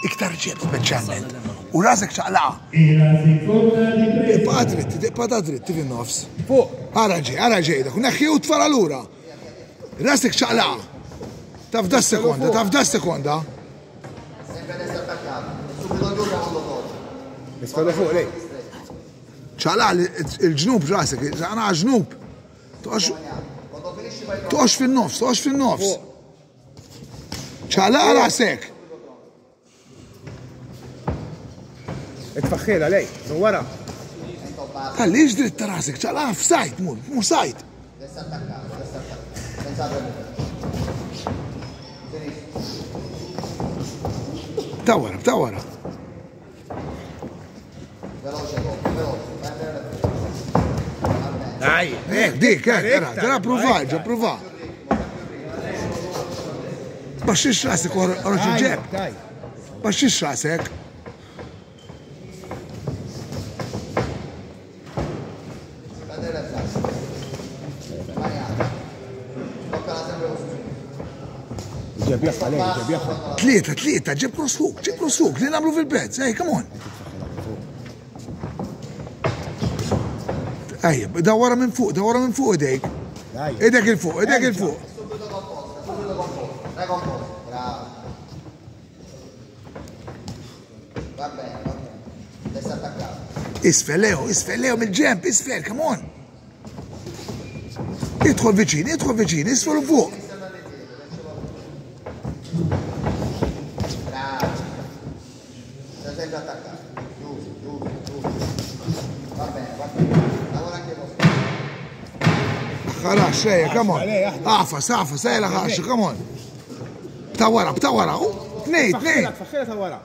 Iktar ġeb speċjalment. U rasek ċaqlaqa. Ibqa' dritt, ibqa' ta' dritt fin-nofs. Fuq. Ara ġej, ara ġej, dak neħħi u tfala lura. Rasek ċaqlaqa. Taf da sekonda, taf da sekonda. Isfel fuq lej. Ċaqlaqa il-ġnub rasek, ċaqlaqa ġnub. Toqgħodx fin-nofs, toqgħodx fin-nofs. Ċaqlaqa rasek. Itfaħħila lej, minn wara. Għaliex dritt ta' rasek, ċaqlaqa f'sajt, mur, mur sajt. Ta' wara, ta' wara. Dai, Eh, dik, eh, tara, tara prova, ġa prova. Baxxix rasek, oroġ il-ġeb. Dai. Baxxix rasek. Ġeb jaħħa lej, ġeb jaħħa. Tlieta, tlieta, ġib cross hook, ġib cross hook, li nagħmlu fil-pezz, ej, come on. Ejja, da wara minn fuq, da wara minn fuq idejk. Dai. Idek il-fuq, idek il-fuq. Isfel, Leo, isfel, Leo, mill-ġemp, isfel, come on. Idħol viċin, idħol viċin, isfel u fuq. Ħarax, ejja, come on. Għafas, għafas, ejja, ħarax, come on. Ta' wara, ta' wara, u, tnej, tnej. Tfaħħila ta' wara.